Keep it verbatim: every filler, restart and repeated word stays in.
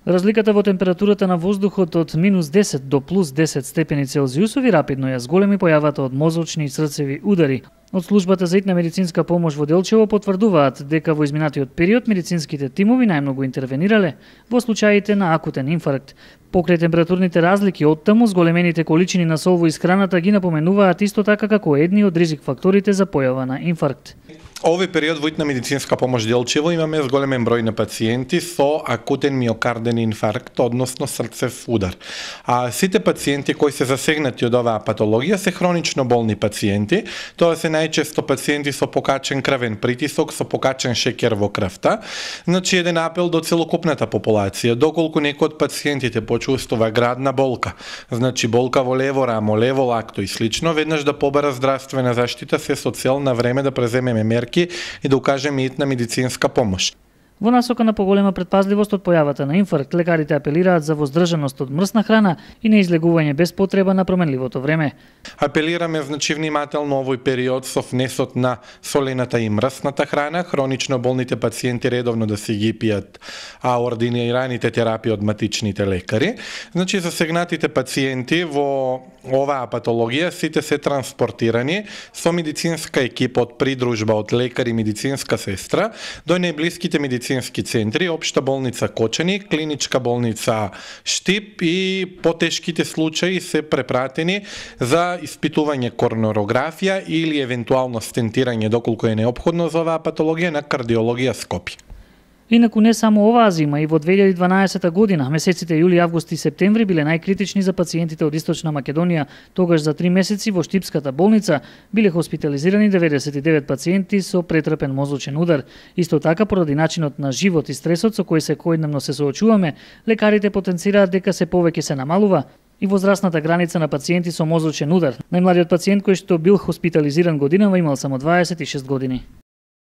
Разликата во температурата на воздухот од минус десет до плюс десет степени Целзиусови рапидно ја зголеми појавата од мозочни и срцеви удари. Од службата за итна медицинска помош во Делчево потврдуваат дека во изминатиот период медицинските тимови најмногу интервенирале во случаите на акутен инфаркт. Покрај температурните разлики оттаму, зголемените количини на сол во исхраната ги напоменуваат исто така како едни од ризик факторите за појава на инфаркт. Овој период во итна медицинска помош Делчево имаме зголемен број на пациенти со акутен миокарден инфаркт, односно срцев удар. А сите пациенти кои се засегнати од оваа патологија се хронично болни пациенти, тоа се најчесто пациенти со покачен крвен притисок, со покачен шеќер во крвта. Значи еден апел до целокупната популација, доколку некој од пациентите почувствува градна болка, значи болка во лево рамо, лево лакто и слично, веднаш да побара здравствена заштита се со цел на време да преземеме мерки и да укажеме итна медицинска помош. Во насока на поголема предпазливост од појавата на инфаркт, лекарите апелираат за воздржаност од мрсна храна и неизлегување без потреба на променливото време. Апелираме значи внимателно овој период со внесот на солената и мрсната храна, хронично болните пациенти редовно да си ги пијат а ординираните терапии од матичните лекари. Значи засегнатите пациенти во оваа патологија сите се транспортирани со медицинска екипа од придружба од лекари и медицинска сестра до најблиските медицински центри, општа болница Кочани, клиничка болница Штип и потешките случаи се препратени за испитување коронарографија или евентуално стентирање доколку е неопходно за оваа патологија на кардиологија Скопје. Инаку не само оваа зима, и во две илјади и дванаесета година, месеците јули, август и септември биле најкритични за пациентите од Источна Македонија. Тогаш за три месеци во Штипската болница биле хоспитализирани деветдесет и девет пациенти со претрпен мозочен удар. Исто така, поради начинот на живот и стресот со кој секојдневно се соочуваме, лекарите потенцираат дека се повеќе се намалува и возрастната граница на пациенти со мозочен удар. Најмладиот пациент кој што бил хоспитализиран годинава имал само дваесет и шест години.